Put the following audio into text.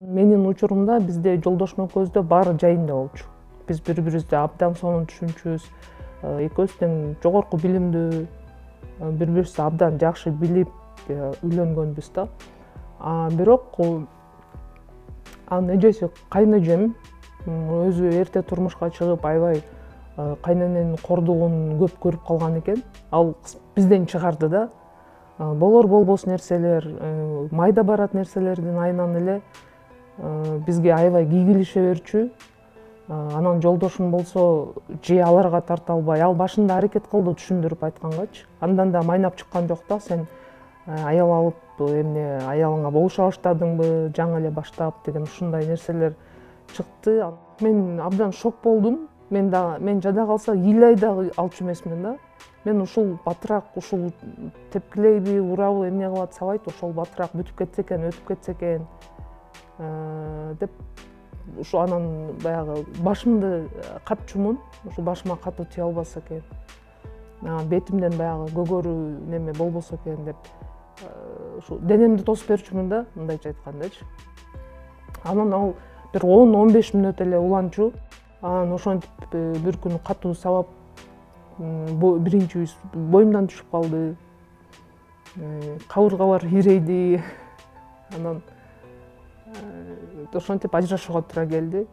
Менин учурумда бизде жолдошум экөөбүздө баары жайында болчу. Биз бири бирибизди абдан сонун түшүнчүбүз. Экөөбүз тең жогорку билимдүү, бири бирибизди абдан жакшы билип үйлөнгөнбүз да. Бирок анын эжеси кайнэжем өзү эрте турмушка чыгып, аябай кайнененин кордугун көп көрүп калган экен. Ал бизден чыгарды да. Болор болбос нерселер, майда барат нерселердин айынан эле бизге аябай кийгилише берчү. Анан жолдошум болсо же аларга тарта албай, ал башында аракет кылды түшүндүрүп айткангачы. Андан да майнап чыккан жок да, сен аял алып эмне аялыңа болуша баштадыңбы, жаңы эле баштап деген ушундай нерселер чыкты. Мен абдан шок болдум. Мен жада калса ил да алчу эмесмин да. Мен ушул батыраак, ушул тепкилейби, урабы, эмне кылып атсабайт, ошол батыраак бүтүп кетсе экен, өтүп кетсе экен деп ушу анан баягы башымды катчумун, ушу башыма катуу тие албаса экен. Бетимден баягы көгөрүү неме болбосо экен деп ушу денемди тосуп берчүмүн да, мындайча айткандачы. Анан ал бир 10-15 мүнөт эле уланчу. Анан ошентип бир күнү катуу сабап биринчи боюмдан түшүп калды. Кабыргалар ирейди. Анан ошентип ажырашууга туура келди.